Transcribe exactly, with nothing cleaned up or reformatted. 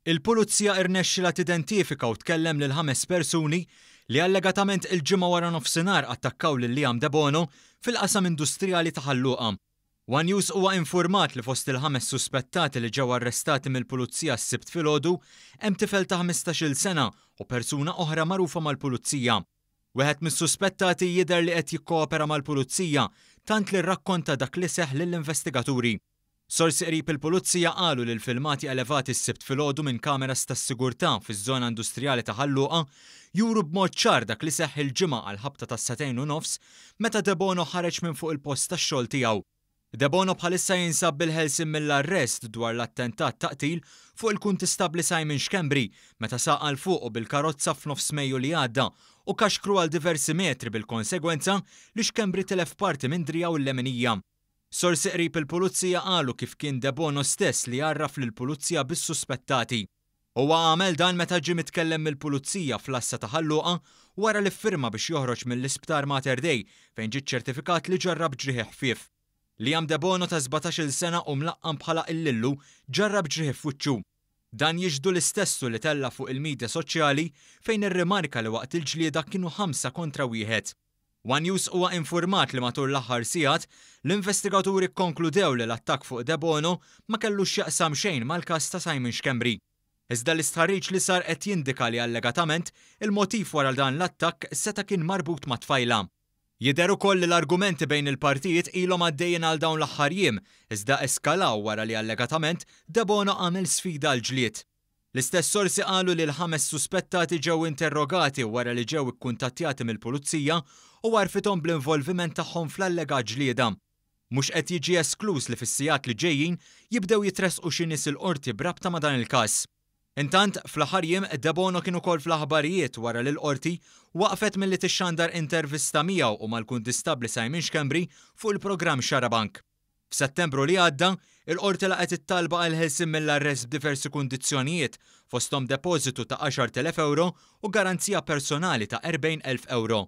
Il-Pulizija irnexxila tidentifika u tkellem lil ħames persuni li allegatament il-Ġimgħa wara nofsinhar attakkaw lil Liam Debono fil-qasam industrijali ta' Ħal Luqa. One News huwa infurmat li fost il-ħames suspettati li ġew arrestati mill-Pulizija s-Sibt filgħodu hemm tifel ta' ħmistax-il sena u persuna oħra magħrufa mal-Pulizija. Wieħed mis-suspettati jidher li qed jikkoopera mal-Pulizija tant li rrakkonta dak li seħħ lill-investigaturi. Sorsi qrib il-Pulizija qalu li l-filmati elevati s-Sibt filgħodu minn kameras tas-sigurtà fiż-żona industrijali ta' Ħal Luqa juru b'mod ċar dak li seħħ il-Ġimgħa għal ħabta tas-sagħtejn u nofs meta Debono ħareġ minn fuq il-post tax-xogħol tiegħu. Debono bħalissa jinsab bil-ħelsien mill-arrest dwar l-attentat ta' qtil fuq il-kuntistabbli Simon Schembri meta saq għal fuqu bil-karozza f'nofs Mejju li għadda u kaxkru għal diversi metri bil-konsegwenza li Schembri tilef parti minn driegħu l-leminija. Sorsi qrib il-Pulizija qalu kif kien Debono stess li għarraf lill-Pulizija bis-suspettati. Huwa għamel dan meta ġie mitkellem mill-Pulizija fl-għassa ta' Ħal Luqa wara li ffirma biex joħroġ mill-isptar Mater Dei fejn ġie ċertifikat li ġarrab ġrieħi ħfief. Liam Debono ta' sbatax-il sena u mlaqqam bħala il-Lillu ġarrab ġrieħi f'wiċċu. Dan jixhdu l-istessu li tella fuq il-medja soċjali fejn irrimarka li waqt il-ġlieda kienu ħamsa kontra wieħed. One News huwa infurmat li matul l-aħħar sigħat l-investigaturi kkonkludew li l-attakk fuq Debono ma kellux x'jaqsam xejn mal-każ ta' Simon Schembri. Iżda l-istħarriġ li sar qed jindika li allegatament il-motiv wara dan l-attakk seta' kien marbut ma' tfajla. Jidher ukoll li l-argumenti bejn il-partijiet ilhom għaddejjin għal dawn l-aħħar jiem, iżda eskalaw wara li allegatament Debono għamel sfida għal ġlied. L-istess sorsi qalu li l-ħames suspettati ġew interrogati wara li ġew ikkuntattjati mill-Pulizija u għarfithom bl-involviment tagħhom fl-allegat ġlieda. Mhux qed jiġi esklus li fis-sigħat li ġejjin jibdew jitressqu xi nies il-qorti b'rabta ma' dan il-każ. Intant, fl-aħħar jiem Debono kien ukoll fl-aħbarijiet wara li l-qorti waqfet milli tixxandar intervista miegħu u mal-kuntistabbli Simon Schembri fuq il-programm Xarabank. F'Settembru li għadda, il-qorti laqgħet it-talba għal ħelsien mill-arrest b'diversi kundizzjonijiet, fosthom depożitu ta' għaxart elef euro u garanzija personali ta' erbgħin elf euro.